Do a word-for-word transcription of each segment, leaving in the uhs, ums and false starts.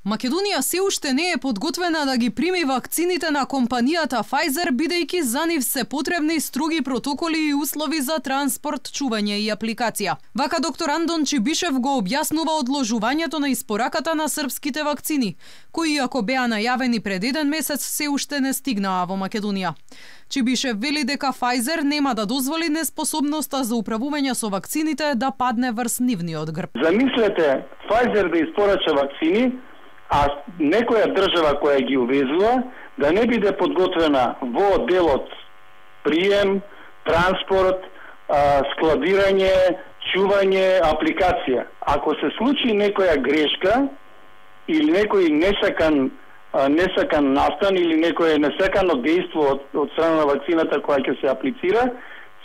Македонија се уште не е подготвена да ги прими вакцините на компанијата Pfizer, бидејќи за нив се потребни строги протоколи и услови за транспорт, чување и апликација. Вака доктор Андон Чибишев го објаснува одложувањето на испораката на српските вакцини, кои ако беа најавени пред еден месец, се уште не стигнаа во Македонија. Чибишев вели дека Pfizer нема да дозволи неспособноста за управување со вакцините да падне врз нивниот грб. Замислете Pfizer да испорача вакцини, а некоја држава која ги увезува да не биде подготвена во делот прием, транспорт, складирање, чување, апликација. Ако се случи некоја грешка или некој несакан несакан настан или некое несакано дејство од, од страна на вакцината која ќе се аплицира,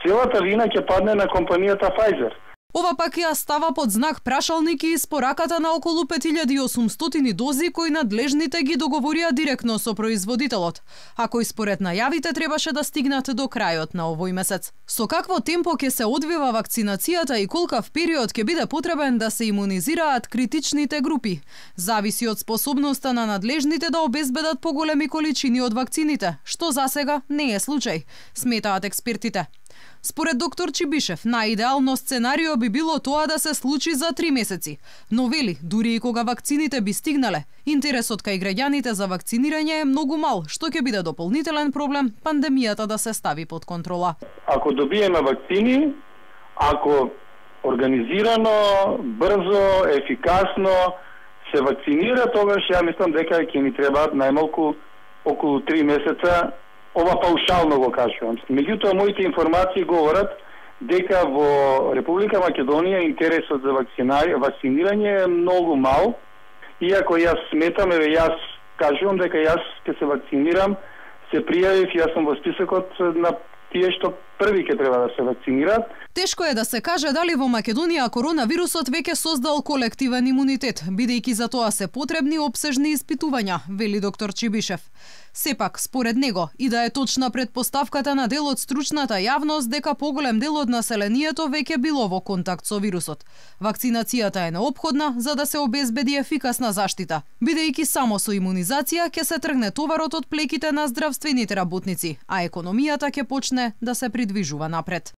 целата вина ќе падне на компанијата Pfizer. Ова пак ја става под знак прашалник и испораката на околу пет илјади и осумстотини дози кои надлежните ги договорија директно со производителот, а кои според најавите требаше да стигнат до крајот на овој месец. Со какво темпо ќе се одвива вакцинацијата и колкав период ќе биде потребен да се имунизираат критичните групи, зависи од способноста на надлежните да обезбедат поголеми количини од вакцините, што засега не е случај, сметаат експертите. Според доктор Чибишев, најидеално сценарио би било тоа да се случи за три месеци, но вели, дури и кога вакцините би стигнале, интересот кај граѓаните за вакцинирање е многу мал, што ќе биде дополнителен проблем пандемијата да се стави под контрола. Ако добиеме вакцини, ако организирано, брзо, ефикасно се вакцинира, тогаш ја мислам дека ќе ни требаат најмалку околу три месеца. Ова паушално го кажувам. Меѓутоа, моите информации говорат дека во Република Македонија интересот за вакцинирање е многу мал. Иако јас сметам, еве јас кажувам дека јас ќе се вакцинирам, се пријавив, јас сум во списокот на тие што први ќе треба да се вакцинираат. Тешко е да се каже дали во Македонија коронавирусот веќе создал колективен имунитет, бидејќи за тоа се потребни опсежни испитувања, вели доктор Чибишев. Сепак, според него, и да е точна предпоставката на дел од стручната јавност дека поголем дел од населението веќе било во контакт со вирусот. Вакцинацијата е неопходна за да се обезбеди ефикасна заштита, бидејќи само со имунизација ќе се тргне товарот од плеките на здравствените работници, а економијата ќе почне да се придвижува напред.